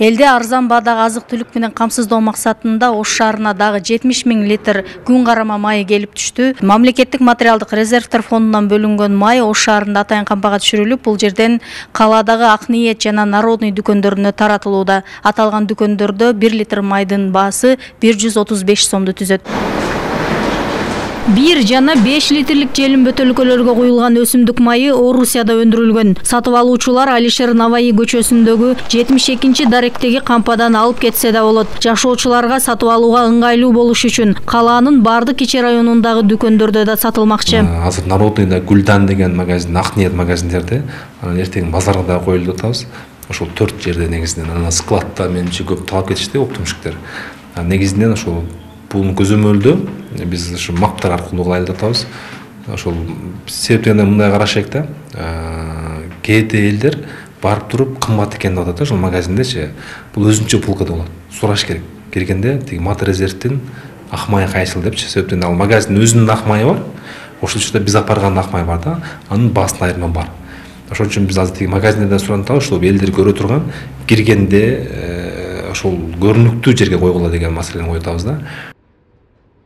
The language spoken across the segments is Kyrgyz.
Элде арзан баадагы азык-түлүк менен камсыздоо максатында Ош шаарына дагы 70 000 литр күн карама майы келип түштү. Мамлекеттик материалдык резервдер фондунан бөлүнгөн май Ош шаарында атайын кампага түшүрүлүп, бул жерден калаадагы Ак Ниет жана Народный дүкөндөрүнө таратылууда. Аталган дүкөндөрдө 1 литр майдын баасы 135 сомду түзөт. 1 жана 5 литрлик желим бөтөлкөлөргө куюлган өсүмдүк майы Орусияда өндүрүлгөн. Сатып алуучулар Алишер Наваи көчөсүндөгү 72 даректеги кампадан алып кетсе да болот. Жашоочуларга сатып алууга ыңгайлуу болуш үчүн калаанын бардык ичи районундагы дүкөндөрдө да сатылмакчы. Азыр Народныйда Гүлдан деген магазин, Ак Ниет магазиндерде, эртең базарга да коюлуп атабыз. Ошол 4 жерде негизинен анан складта менчи көп талап кетишти оптумщиктер. Негизинен ошол бул көзөмөлдө биз ушу маптар аркылуу кылайлы деп атабыз. Ошол себептен мындай карашайык да. Кээде элдер барып туруп кымбат экен деп атат ошол магазиндечи. Бул өзүнчө полкада болот. Сураш керек. Келгенде тиги мат резервдин ак майы кайсыл депчи. Себептен ал магазиндин өзүнүн ак майы бар. Ошол учурда биз апарган ак май бар да. Анын баасында айырма бар. Ошол үчүн биз азыр тиги магазиндерден суранып атабыз, ошол элдер көрө турган киргенде ошол көрүнүктүү жерге койгула деген маселени коюп атабыз да.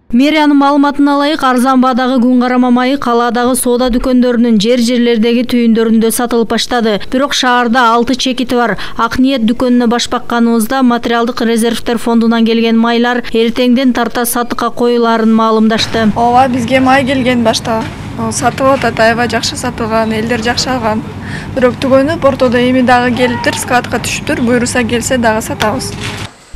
Мэриянын маалыматына ылайык, арзан баадагы күн карама майы калаадагы соода дүкөндөрүнүн жерлердеги түйүндөрүндө сатылып баштады. Бирок шаарда 6 чекити бар. Ак Ниет дүкөнүнө баш бакканыбызда материалдык резервдер фондунан келген майлар эртеңден тарта сатыкка коюлаарын маалымдашты. Ооба, бизге май келген башта. Сатылып атат, аябай жакшы сатылган, элдер жакшы алган. Бирок түгөнүп, ортодо эми дагы келиптир, складка түшүптүр, буйруса келсе дагы сатабыз.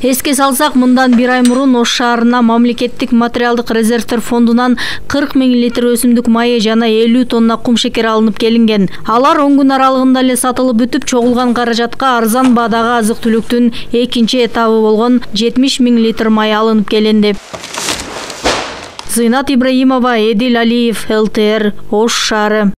Эске салсак, мындан 1 ай мурун Ош шаарына мамлекеттик материалдык резервдер фондунан 40 000 литр өсүмдүк майы жана 50 тонна кум шекер алынып келинген. Алар 10 күн аралыгында эле сатылып бүтүп, чогулган каражатка арзан баадагы азык-түлүктүн экинчи этабы болгон 70 000 литр май алынып келинди. Зыйнат Ибраимова, Эдил Алиев, ЛТР, Ош шаары.